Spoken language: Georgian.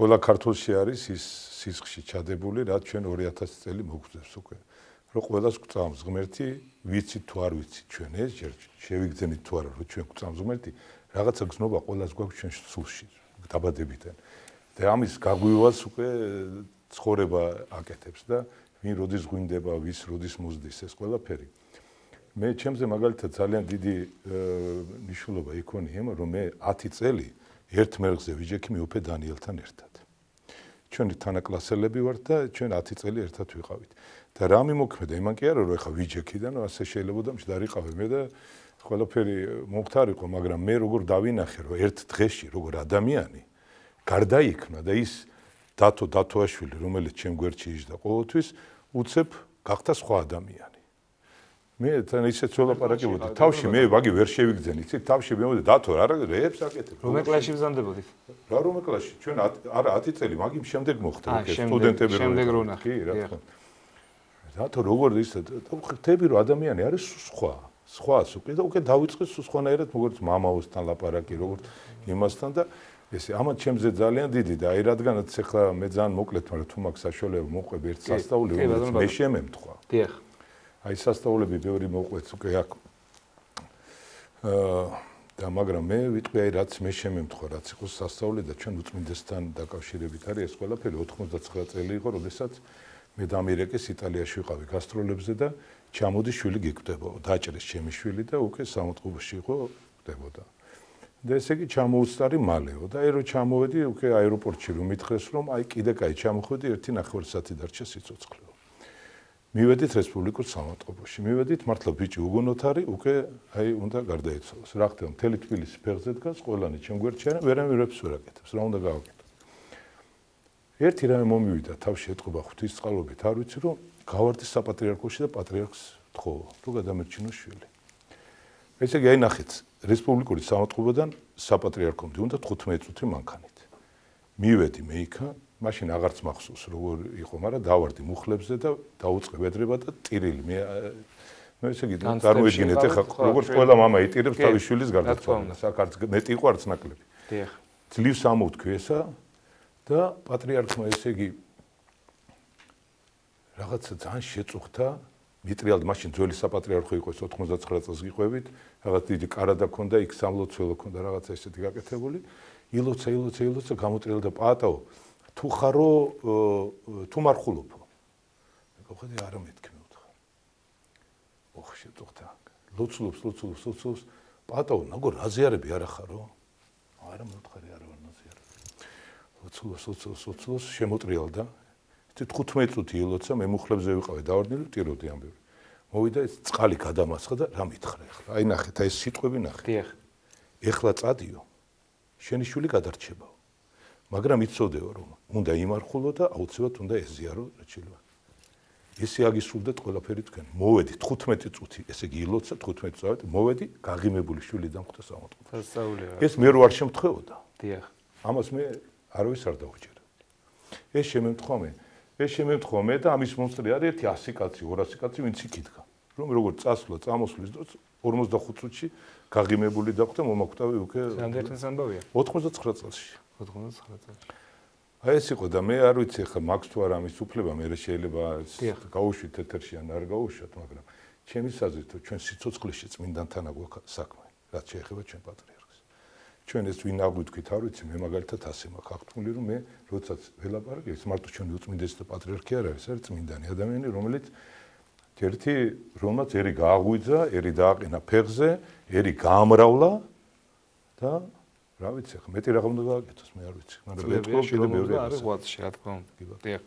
ყველა ქართულში არის ის სისხლში ჩადებული, რაც ჩვენ 2000 წელი მოგვწევს უკვე. რომ ყველას გვწამს ღმერთი, ვიცით თუ არ ვიცით ჩვენ ეს ჯერ შევიგრძენით თუ არა რომ ჩვენ გვწამს ღმერთი, რაღაცა გზნობა ყველას გვაქვს ჩვენ სულში, დაბადებიდან. და ამის გაგვივას უკვე ცხოვრება აკეთებს და ვინ როდის ღვინდება, ვის როდის მოზდის ეს ყველაფერი. მე ჩემზე მაგალითად ძალიან დიდი მნიშვნელობა იქონია იმ რომ მე 10 წელი ერთ მერღზე ვიჯექი მეუფე დანიელთან ერთად. ჩვენი თანაკლასელები ვართ და ჩვენ 10 წელი ერთად ვიყავით. და რა მიმოქმედა იმან კი არა რომ ეხა ვიჯექიდან ასე შეიძლება მჯდარიყავე მე და ყველაფერი მომხდარიყო, მაგრამ მე როგორ დავინახე რომ ერთ დღეში როგორ ადამიანი გარდაიქმნა და ის დათო დათოაშვილი რომელიც ჩემ გვერდში იჯდა ყოველთვის უცებ გახდა სხვა ადამიანი. მე თან ისეთ ველაპარაკებოდი თავში მე ვაგი ვერ შევიგძენ იცით თავში მე დათო არა რეებს აკეთებ რომელ კლასში ბრძანდებოდით რა რომელ კლასში ჩვენ არა 10 წელი მაგის შემდეგ მოხდა სტუდენტები შემდეგ რო ნახე კი რა თქმა უნდა დათო როგორ ის ხტები რომ ადამიანი არის სხვას უკვე და უკვე დავიწყე სხვანაირად როგორც მამაოსთან ლაპარაკი როგორც იმასთან და ესე ამათ ჩემზე ძალიან დიდი და აი რადგანაც ახლა მე ძალიან მოკლედ მაგრამ თუ მაქვს საშუალება მოყვები ერთ სასწაული რომელიც მე შემემთხვა დიახ აი სასწაულები ბევრი მოყვეთ უკვე აქ და მაგრამ მე ვიტყვი აი რაც მე შემემთხვა რაც იყო სასწაული და ჩვენ უწმინდესთან დაკავშირებით არის ეს ყველაფერი 99 წელი იყო როდესაც მე დამირეკეს იტალიაში ვიყავი გასტროლებზე და ჩამოდი შვილი გიკვდებოდა დაჭრეს ჩემი შვილი და უკვე სამოწყობოში იყო ხდებოდა და ესე იგი ჩამოუწარი მალეო და აი რომ ჩამოვედი უკვე აეროპორტში რომ მითხრეს რომ აი კიდე კაი ჩამოხვედი 1.5 საათი დარჩა სიცოცხლეო მივედით რესპუბლიკურ სამოწყობოში მივედით მართლა ბიჭი უგონოთ არის უკვე აი უნდა გარდაეცვალოს რა ხდება მთელი თბილისი ფეხზე დგას ყველანი ჩემ გვერდში არა ვერაფერს ვერ აკეთებს რა უნდა გავაკეთო ერთი რამე მომივიდა თავში ეთყობა ღვთისწყალობით არ ვიცი რომ გავარდი საპატრიარქოში და პატრიარქს თხოვო რომ გადამერჩინო შვილი ესე იგი აი ნახეთ რესპუბლიკური სამოწყობოდან საპატრიარქომდე უნდა 15 წუთი მანქანით მივედი მე იქა მაშინ აღარც მახსოვს როგორ იყო მაგრამ დავარდი მუხლებზე და დაუწყე ვედრება და ტირილი მე ესე იგი წარმოიდგინეთ ახლა როგორც ყველა მამა იტირებს თავის შვილის გარდაცვალებას აქ არც მეტი იყო არც ნაკლები დიახ ძლივს ამოვთქვი ესა და პატრიარქმა ესე იგი რაღაცა ძალიან შეწუხდა მიტრიალდი მაშინ ძველი საპატრიარქო იყო 99 წელს გიყვებით რაღაც დიდი კარადა ქონდა იქ სამლოცველო ქონდა რაღაცა ესეთი გაკეთებული ილოცა გამოტრიალდა პატაო თუ ხარო თუ მარხულობო მე გავხედე არა მეთქი მე ვთხარ ოხ შეწუხდა ლოცულობს პატაო ნაგო რაზიარები არა ხარო არა მე ვთხარი არა ვარ ნაზიარები ლოცულობს შემოტრიალდა 15 წუთი ილოცა მე მუხლებზე ვიყავი დავარდნილი ტიროდი ამბები მოვიდა ეს წყალი გადამასხა და რა მითხრა ახლა აი ნახეთ აი ეს სიტყვები ნახეთ დიახ ეხლა წადიო შენი შვილი გადარჩებაო მაგრამ იცოდეო რომ უნდა იმარხულო და აუცილებლად უნდა ეზიარო რაც შეიძლება ესე აგისრულდეთ ყველაფერი თქვენ მოვედი 15 წუთი ესე იგი ილოცა 15 წუთი მოვედი გაღიმებული შვილი დამხვდა სამოწყობოში ეს მე რო არ შემთხვეოდა დიახ ამას მე არავის არ დაუჭერა ეს შემემთხვა მე და ამის მომსწრე არის ერთი 100 კაცი 200 კაცი ვინც იქ იდგა რომ როგორ წასვლა წამოსვლის დროს 45 წუთში გაღიმებული დახვდა მომაკვდავი უკვე რამდენი წელი ამბავია 99 წელში 99 წელს აი ეს იყო და მე არ ვიცი ახლა მაქვს თუ არა ამის უფლება მე შეიძლება გაუშვით ეთერში ან არ გაუშვათ მაგრამ ჩემი საზრით ჩვენ სიცოცხლეში წმინდანთან აგვაქვს საქმე რაც შეეხება ჩვენ პატრიარქს ჩვენ ეს ვინ აგვითქვით არ ვიცი მე მაგალითად ასე მაქვს აღთქმული რომ მე როდესაც ველაპარაკე ეს მარტო ჩვენი უწმინდესი და პატრიარქი არ არის წმინდანი ადამიანი რომელიც ერთი რომელმაც ერი გააღვიძა ერი დააყენა ფეხზე ერი გაამრავლა და რა ვიცი ახლა მეტი რა უნდა გააკეთოს მე არ ვიცი მაგრამ ეთქვა კიდე მეორე არის ღვაწში რა თქმა უნდა დიახ